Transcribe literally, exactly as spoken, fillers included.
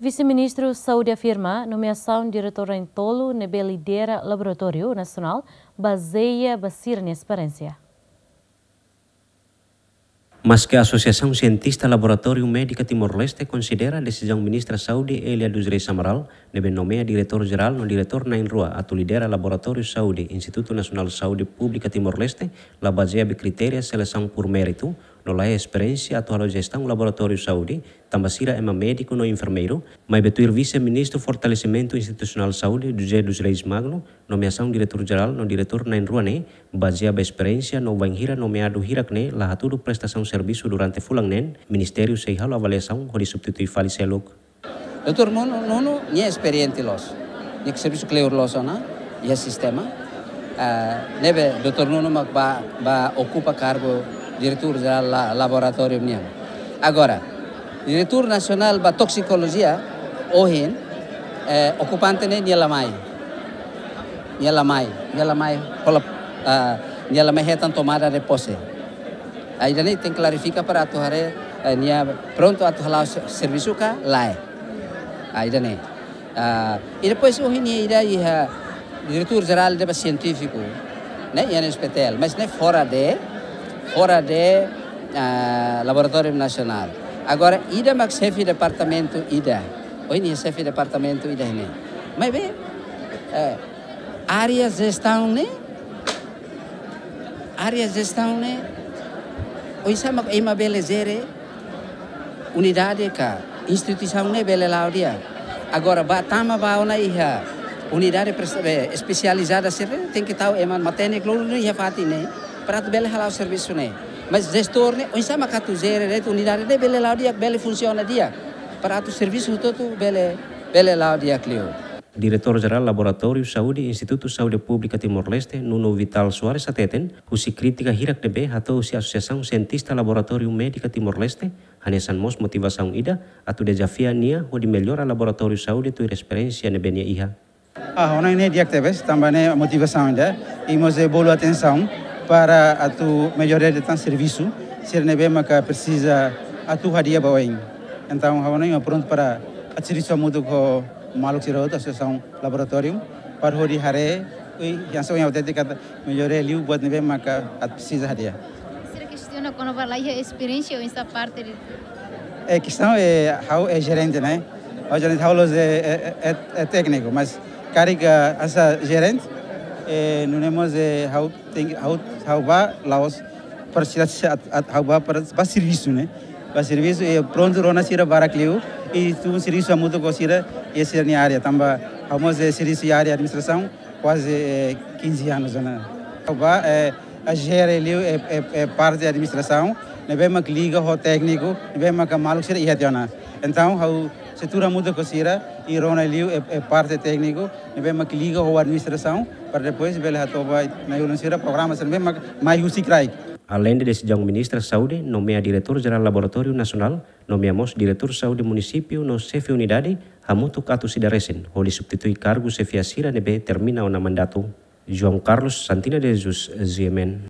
Vise-Ministru Saúde afirma nomeasaun diretór na'in-tolu ne'ebé lidera Laboratóriu Nasionál bazeia ba sira-nia esperiénsia. Maske Asosiasaun Sientista Laboratóriu Médika Timor-Leste konsidera desizaun Ministra Saúde Elia dos Reis Amaral ne'ebé nomeia diretór jerál no diretór na'in-rua atu lidera Laboratóriu Saúde Institutu Nasionál Saúde Públika Timor-Leste la bazeia ba kritéria selesaun por méritu, no laiha esperiénsia atu halo jestaun laboratóriu saúde, tanba sira ema médiku no enfermeiru, maibé tuir Vise-Ministru Fortalesimentu Institusionál Saúde, José dos Reis Magno, nomeasaun diretór jerál no diretór na'in-rua ne'e bazeia ba esperiénsia no bainhira nomeadu hirak ne'e la hatudu prestasaun servisu durante fulan neen, ministériu sei halo avaliasaun hodi substitui fali seluk. Doutór Nuno, Nuno, nia esperiente loos. Nia servisu kleur loos ona iha sistema. Ah, ne'ebé doutór Nuno mak ba, ba okupa kargu diretór jerál la-, laboratóriu nian. Agora, diretór nasionál ba toksikolojia, ohin, eh, okupante ne'e nia la mai. Nia la mai, nia la mai hola, ah, nia la mai hetan tomada de pose. Ah, ida-ne'e tenke klarifika para atu haree, eh, nia prontu atu hala'o se-, servisu ka lae. Ah, ida-ne'e. Ah, i depois ohin nia ida iha diretór jerál ida ba sientífiku, ne'e, iha S P T L, mas ne'e fora de, fora de, ah, Laboratóriu Nasionál. Agora, ida mak xefe departamentu ida. Ohin nia xefe departamentu ida ne'e. Maibé, eh, área jestaun ne'e, área jestaun ne'e, oinsá mak ema bele jere unidade ka instituisaun ne'e bele la'o di'ak. Agora, ba tama ba ona iha unidade pres-, eh, espesializada sira, tenke tau ema matenek lolu iha fatin ne'e, para atu bele hala'o servisu ne'e. Mas jestór ne'e, oinsá mak atu jere de'it unidade ne'e bele la'o di'ak, bele funsiona di'ak, para atu servisu hotu-hotu bele, bele la'o di'ak liu. Diretór Jerál Laboratóriu Saúde Institutu Saúde Públika Timor-Leste, Nuno Vital Soares hateten, husi krítika hirak ne'ebé hato'o husi Asosiasaun Sientista Laboratóriu Médika Timor-Leste, hanesan mós motivasaun ida atu dezafia nia hodi mellora laboratóriu saúde tuir esperiénsia ne'ebé nia iha. Ah, ha'u hanoin ne'e di'ak tebes, tanba ne'e motivasaun ida, i mós bolu atensaun para atu mellora de'it tan servisu sira ne'ebé maka presiza atu hadi'a ba oin. Entaun, ha'u hanoin prontu para atu servisu hamutuk ho maluk sira hotu, asosiasaun laboratóriu, para hodi haree, i hanesan ohin ha'u hatete katak mellora liu buat ne'ebé maka atu presiza hadi'a. Sira kestiona kona-ba laiha esperiénsia oinsá parte de... Eh, kestaun é, ha'u é jerente, ne'e? Ha'u jerente, ha'u la'ós é, é, é, é tékniku, mas karik hanesan jerente, eh, nune'e mós, eh, ha'u tenke, ha'u, ha'u bá la'ós para sira, sira at-, at-, ha'u bá para, ba servisu, ne'e? Ba servisu, i prontu rona sira barak liu, i tun servisu hamutuk ho sira, i sira-nia área, tanba ha'u mós, eh, servisu iha área administrasaun, kuaze, eh, kinze anos ona. Ha'u bá, eh, a jere liu, eh, eh, eh, parte administrasaun, ne'ebé mak liga ho tékniku, ne'ebé mak maluk sira iha tiha ona. Entaun, ha'u sei tuur hamutuk ho sira, i rona liu, eh, eh, parte tékniku, ne'ebé mak liga ho administrasaun, para depois bele hato'o ba na'i-ulun sira programa sira ne'ebé mak mai husi kraik. Aleinde desizaun Ministra Saúde nomeia Diretór Jerál Laboratóriu Nasionál, nomeia mós Diretór Saúde Munisípiu no xefe unidade, hamutuk atus ida resin, hodi substitui kargu xefia sira ne'ebé termina ona mandatu. João Carlos Santina de Jesus, G M N.